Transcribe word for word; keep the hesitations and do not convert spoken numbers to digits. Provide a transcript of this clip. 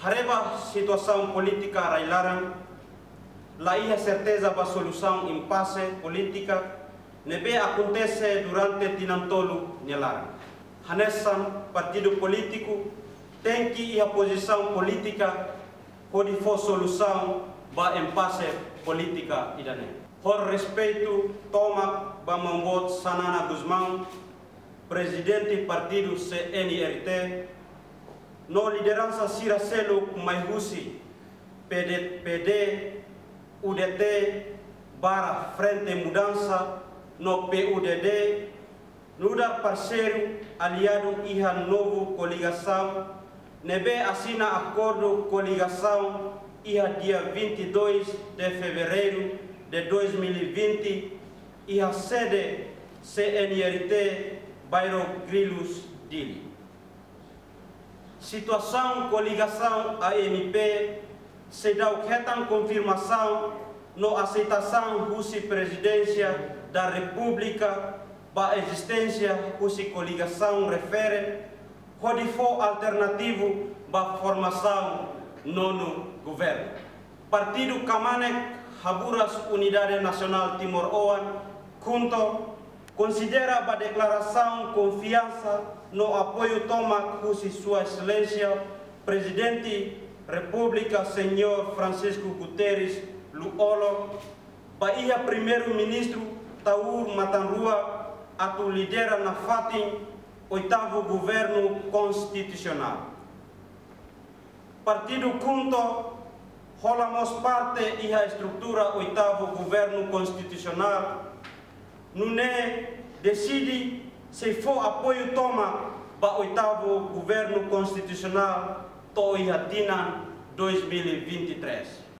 Haree ba situasaun polítika rai-laran, la iha serteza ba solusaun impase polítika ne'ebé akontese durante tinan tolu nia laran. Hanesan partidu polítiku tenke iha pozisaun polítika hodi fó solusaun ba impase polítika ida-ne'e. Ho respeitu tomak ba Maun Boot Xanana Gusmão, prezidente partidu C N R T, no lideransa sira seluk mai husi P D, P D, U D T, barra Frente Mudança, no P U D D, nu'udar parseiru aliadu iha novu koligasaun ne'ebé asina akordu koligasaun iha dia vinte e dois de fevereiro de dois mil e vinte, iha sede C N R T, bairru Grilus, Dili. Situasaun koligasaun A M P seidauk hetan konfirmasaun no aseitasaun husi Prezidénsia da Repúblika ba ezisténsia husi koligasaun refere, hodi fó alternativu ba formasaun nonu governu. Partidu Kmanek Haburas Unidade Nasionál Timor-Oan, KHUNTO, konsidera ba deklarasaun konfiansa no apoiu tomak husi Sua Exelénsia Prezidente Repúblika Señór Francisco Guterres Lú-Olo, ba iha Primeiru-Ministru Taur Matan Ruak atu lidera nafatin oitavu governu konstitusionál. Partidu KHUNTO hola mós parte iha estrutura oitavu governu konstitusionál, nune'e deside sei fó apoiu tomak ba oitavu governu konstitusionál to'o iha tinan dois mil e vinte e três.